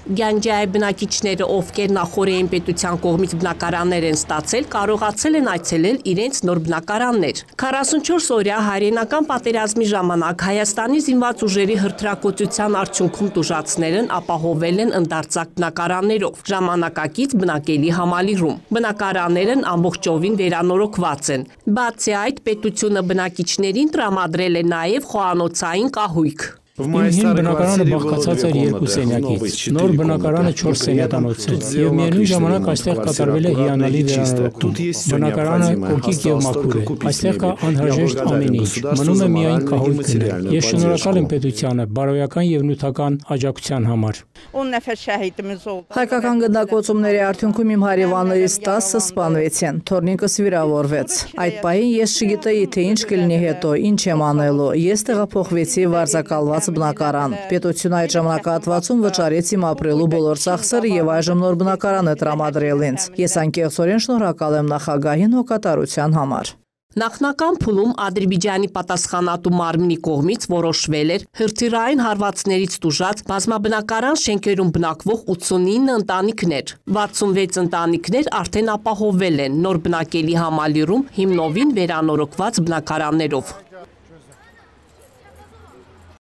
Գյանջայի բնակիչները, ովքեր նախորդային պետության կողմից բնակարաններ են ստացել, կարողացել են այցելել իրենց նոր բնակարաններ։ 44 օրյա հայրենական պատերազմի ժամանակ Հայաստանի զինված ուժերի հրթիռակոծության արդյունքում տուժածներն ապահովել են ընդարձակ բնակարաններով, ժամանակակից բնակելի համալիրում։ Բնակարաններն ամբողջովին վերանորոգված են։ Բացի այդ, պետությունը բնակիչներին տրամադրել է նաև խոհանոցային կահույք։ Իմ հին բնակարանը բաղկացած էր 2 սենյակից, նոր բնակարանը 4 սենյականոց է, եւ միևնույն ժամանակ այստեղ կատարվել է հիանալի վերանորոգում։ Բնակարանը կոկիկ եւ մաքուր է, այստեղ կա անհրաժեշտ ամեն ինչ, մնում է միայն կահույք գնել։ Ես շնորհակալ եմ պետությանը բարոյական եւ նյութական աջակցության համար։ Հայկական գնդակոծումների արդյունքում իմ հարևաններից 10-ը սպանվեցին, թորնիկս վիրավորվեց։ Այդ պահին ես չգիտեի, թե ինչ կլինի հետո, ինչ եմ անելու։ Ես տեղափոխվեցի վարձակալված բնակարան։ Պետությունը այդ ժամանակահատվածում վճարեց իմ ապրելու բոլոր ծախսերը եւ այժմ նոր բնակարան է տրամադրել ինձ։ Ես անկեղծորեն շնորհակալ եմ նախագահին հոգատարության համար։ Նախնական փուլում Ադրբեջանի պատասխանատու մարմնի կողմից որոշվել էր հրթիռային հարվածներից տուժած բազմաբնակարան շենքերում բնակվող 89 ընտանիքներ։ 66 ընտանիքներ արդեն ապահովվել են նոր բնակելի համալիրում հիմնովին վերանորոգված բնակարաններով։